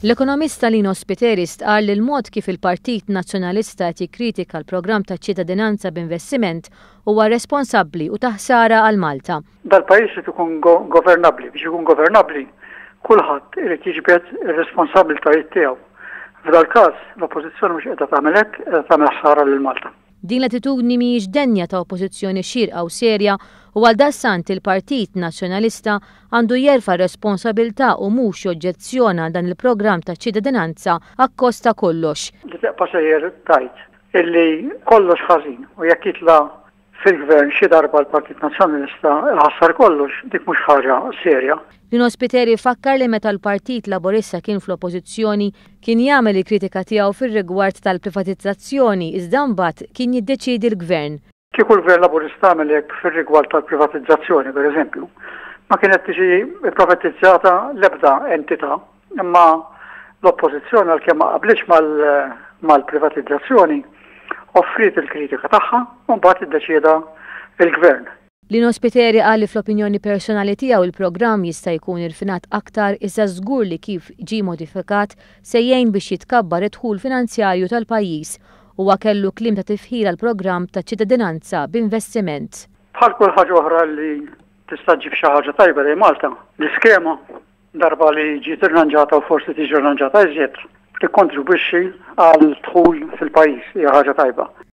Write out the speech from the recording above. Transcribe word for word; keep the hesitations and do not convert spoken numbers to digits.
L-ekonomista Lino Spiteri stqarr li l-mod kif il-Partit Nazzjonalista qed jikkritika l-programm ta' ċittadinanza b'investiment huwa irresponsabbli u ta' ħsara għal Malta. Dal-pajjiż irid ikun governabbli. Biex ikun governabbli, kulħadd irid jiġbed ir-responsabbiltajiet tiegħu. F'dal-każ l-Oppożizzjoni mhux qiegħda tagħmel hekk, qiegħda tagħmel ħsara lil Malta. Din l-attitudni mhijiex denja ta' oppożizzjoni xierqa u serja u għaldaqstant il-Partit Nazzjonalista għandu jerfa' responsabilità u mhux joġġezzjona dan il-programm ta' ċittadinanza akkost ta' kollox. Li tibqa' sejjer tgħid illi kollox ħażin u jekk jitla' fil-gvern xi darba l-Partit Nazzjonalista ħassar kollox, dik mhux ħaġa serja. Lino Spiteri fakkar li meta l-Partit Laburista kien fl-Oppożizzjoni kien jagħmel il-kritika tiegħu fir-rigward tal-privatizzazzjoni, iżda mbagħad kien jiddeċiedi l-gvern. Kieku l-Gvern Laburista għamel hekk fir-rigward tal-privatizzazzjoni, pereżempju, ma kienet tiġi privatizzata l-ebda entità, imma l-Oppożizzjoni, għalkemm ma qablitx mal-privatizzazzjoni, offriet il-kritika tagħha u mbagħad iddeċieda il-gvern. Lino Spiteri qal li fl-opinjoni personali tiegħu il-programm jista' jkun irfinat aktar, iżda żgur li kif ġie modifikat se jgħin biex jitkabbar id-dħul finanzjarju tal-pajjiż. Huwa kellu kliem ta' tifħir għal programm ta' ċittadinanza b'investiment. Bħal kull ħaġa oħra li tista' ġġib xi ħaġa tajba lejn Malta, l-iskema darba li ġiet irranġata u forsi tiġi irranġata iżjed, tikkontribwixxi għal dħul fil-pajjiż, hija ħaġa tajba.